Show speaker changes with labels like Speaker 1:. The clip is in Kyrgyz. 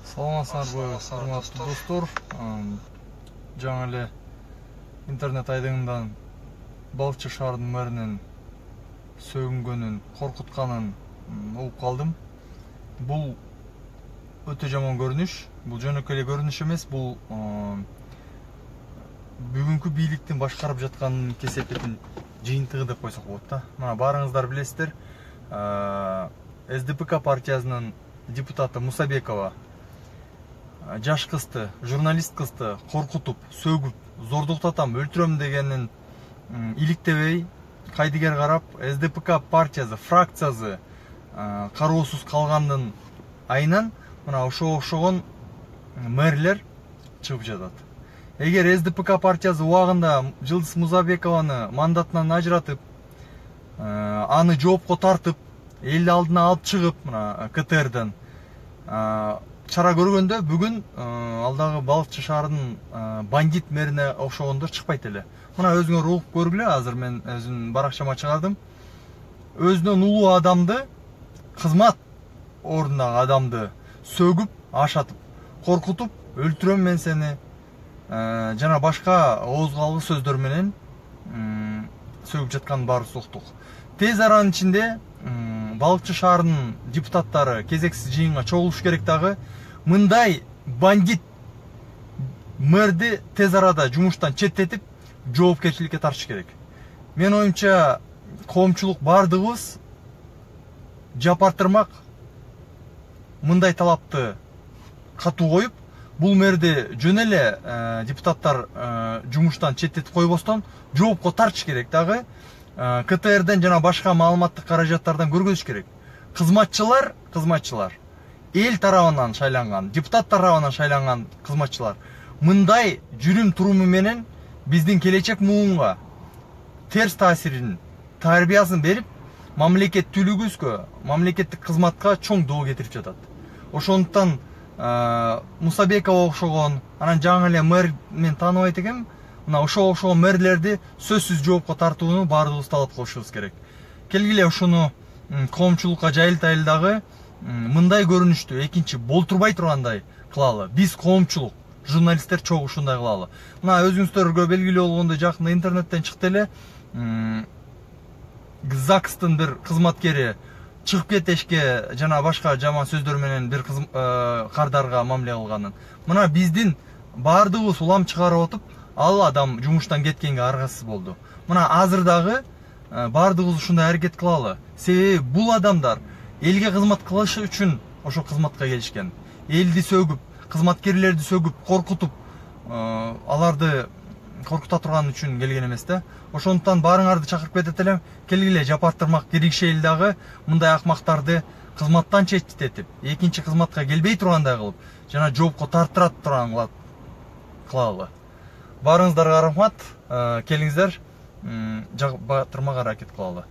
Speaker 1: Саламатсыздарбы, урматтуу достор. Жаңы эле интернет айдыңынан Балыкчы шаарынын мэринин сөгүнгөнүн, коркутканын угуп калдым. Бул өтө жаман көрүнүш. Бул жөнөкөй эле көрүнүш эмес, бул бүгүнкү бийликтин башкарып жатканын кесепетин жыйынтыгы деп койсок болот да. Мына баарыңыздар билесиздер, СДПК партиясынын депутаты Мусабекова жаш кызды, журналист кызды коркутуп, сөгүп, зордуктатам, өлтүрөм дегенин иликтебей, кайдыгер карап, СДПК партиясы, фракциясы кароосуз калгандын айынан мына ошого окшогон мэрлер чыгып жатат. Эгер СДПК партиясы убагында Жылдыз Мусабекованы мандатынан ажыратып, аны жоопко тартып, эл алдына алып чыгып, мына КТРден чара көргөндө, бүгүн ал дагы Балыкчы шаарынын бандит мэрине окшогондор чыкпайт эле. Мына өзүңөр угуп көргүлө, азыр мен өзүмдүн баракчама чыгардым. Өзүнөн улуу адамды, кызмат ордундагы адамды сөгүп, ашатып, коркутуп, өлтүрөм мен сени жана башка оозго алгы сөздөр менен сөгүп жатканын баарыбыз уктук. Тез аранын ичинде Балыкчы шаарынын депутаттары кезексиз жыйынга чогулуш керек дагы. Мындай бандит мэрди тез арада жумуштан четтетип, жоопкерчиликке тартыш керек. Мен оюмча, коомчулук бардыгыбыз жапартырмак мындай талапты катуу коюп, бул мэрди жөн эле депутаттар жумуштан четтетип койбостон жоопко тартыш керек дагы. КТРден жана башка маалыматтык каражаттардан көргөзүш керек. Кызматчылар эл тарабынан шайланган, депутат тарабынан шайланган кызматчылар мындай жүрүм туруму менен биздин келечек муунга терс таасирин, тарбиясын берип, мамлекеттүүлүгүбүзгө, мамлекеттик кызматка чоң доо кетирип жатат. Ошондуктан Мусабекова окшогон, анан жаңы эле мэр мен тааныбайт экенмин, мына ошого окшогон мэрлерди сөзсүз жоопко тартууну баардыгыбыз талап кылышыбыз керек. Келгиле ушуну коомчулукка жайылтайлы дагы, мындай көрүнүштү экинчи болтурбай тургандай кылалы. Биз коомчулук, журналисттер чогуу ушундай кылалы. Мына өзүңүздөргө белгилүү болгондой, жакында интернеттен чыкты эле, ЗАГСтын бир кызматкери чыгып кетешке жана башка жаман сөздөр менен бир кардарга мамиле кылганын. Мына биздин баардыгыбыз улам чыгарып отуп, ал адам жумуштан кеткенге аргасыз болду. Мына азыр дагы баардыгыбыз ушундай аракет кылалы. Себеби бул адамдар элге кызмат кылыш үчүн ошо кызматка келишкен. Элди сөгүп, кызматкерлерди сөгүп, коркутуп, аларды коркута турган үчүн келген эмес да. Ошондуктан баарыңарды чакырып кетет элем, келгиле жапартырмак киргишели дагы мындай акмактарды кызматтан четтетип, экинчи кызматка келбей тургандай кылып, жана жоопко тартыра турган кылалы. Баарыңыздарга рахмат, келиңиздер, жапартырмак аракет кылалы.